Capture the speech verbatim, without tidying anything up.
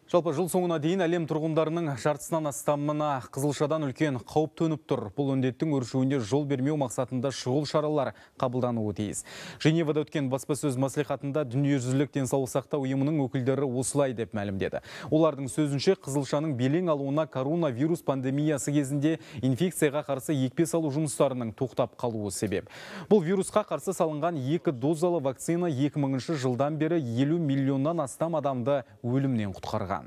Жалпы жыл соңына дейін әлем тұрғындарының жартысынан астамына қызылшадан үлкен қауіп төніп тұр. Бұл індеттің өршуіне жол бермеу мақсатында шұғыл шаралар қабылдануы тиіс. Женевада өткен баспасөз мәслихатында дүниежүзілік денсаулық сақтау ұйымының өкілдері осылай деп мәлімдеді. Олардың сөзінше қызылшаның белең алуына коронавирус пандемиясы кезінде инфекцияға қарсы екпе салу жұмыстарының тоқтап қалуы себеп. Бұл вирусқа қарсы салынған екі дозалы вакцина екі мыңыншы жылдан бері елу миллионнан астам адамды өлімнен құтқарған.